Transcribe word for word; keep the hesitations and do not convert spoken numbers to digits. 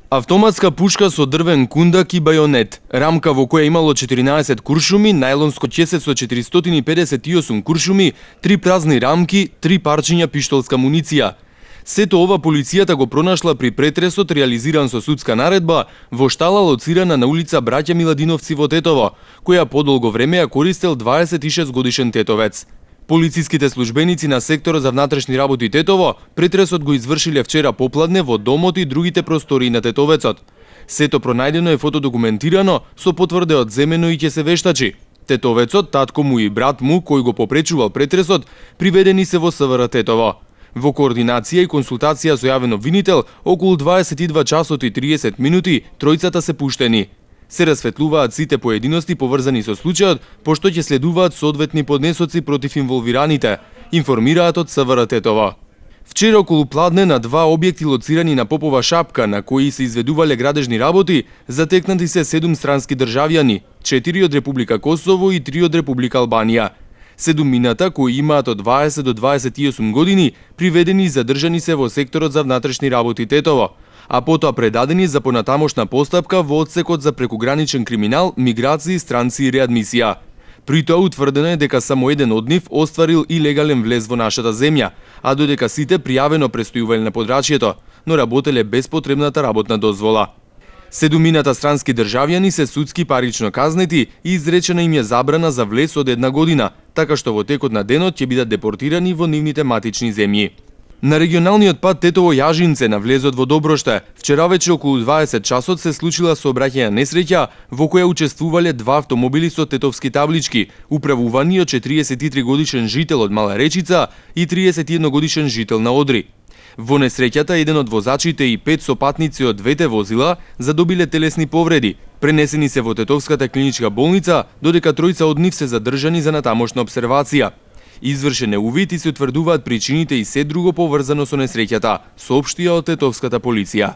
Автоматска пушка со дрвен кундак и бајонет, рамка во која имало четиринаесет куршуми, најлонско ќесе со четиристотини и педесет и осум куршуми, три празни рамки, три парчиња пиштолска муниција. Сето ова полицијата го пронашла при претресот реализиран со судска наредба во штала лоцирана на улица Браќа Миладиновци во Тетово, која подолго време ја користел дваесет и шест годишен тетовец. Полициските службеници на секторот за внатрешни работи Тетово претресот го извршиле вчера попладне во домот и другите простории на тетовецот. Сето пронајдено е фотодокументирано со потврде од земено и ќе се вештачи. Тетовецот, татко му и брат му кој го попречувал претресот, приведени се во СВР Тетово. Во координација и консултација со јавен обвинител, околу дваесет и два часот и триесет минути, тројцата се пуштени. Се расветлуваат сите поединости поврзани со случајот, пошто ќе следуваат соодветни поднесоци против инволвираните, информираат од СВР Тетово. Вчера околу пладне на два објекти лоцирани на Попова шапка, на кои се изведувале градежни работи, затекнати се седум странски државјани, четири од Република Косово и три од Република Албанија. Седумината, кои имаат од дваесет до дваесет и осум години, приведени и задржани се во секторот за внатрешни работи Тетово, а потоа предадени за понатамошна постапка во одсекот за прекуграничен криминал, миграции, странци и реадмисија. При тоа утврдено е дека само еден од нив остварил илегален влез во нашата земја, а додека сите пријавено престојувале на подрачјето, но работеле без потребната работна дозвола. Седумината странски државјани се судски парично казнети и изречена им е забрана за влез од една година, така што во текот на денот ќе бидат депортирани во нивните матични земји. На регионалниот пат Тетово-Јажинце на влезот во Доброште, вчера вече околу дваесет часот се случила сообраќајна несреќа во која учествувале два автомобили со тетовски таблички, управувани од четириесет и три годишен жител од Мала Речица и триесет и едно годишен жител на Одри. Во несреќата еден од возачите и пет сопатници од двете возила задобиле телесни повреди, пренесени се во Тетовската клиничка болница, додека тројца од нив се задржани за натамошна обсервација. Извршен е увид и се утврдуваат причините и се друго поврзано со несреќата, соопштија од Тетовската полиција.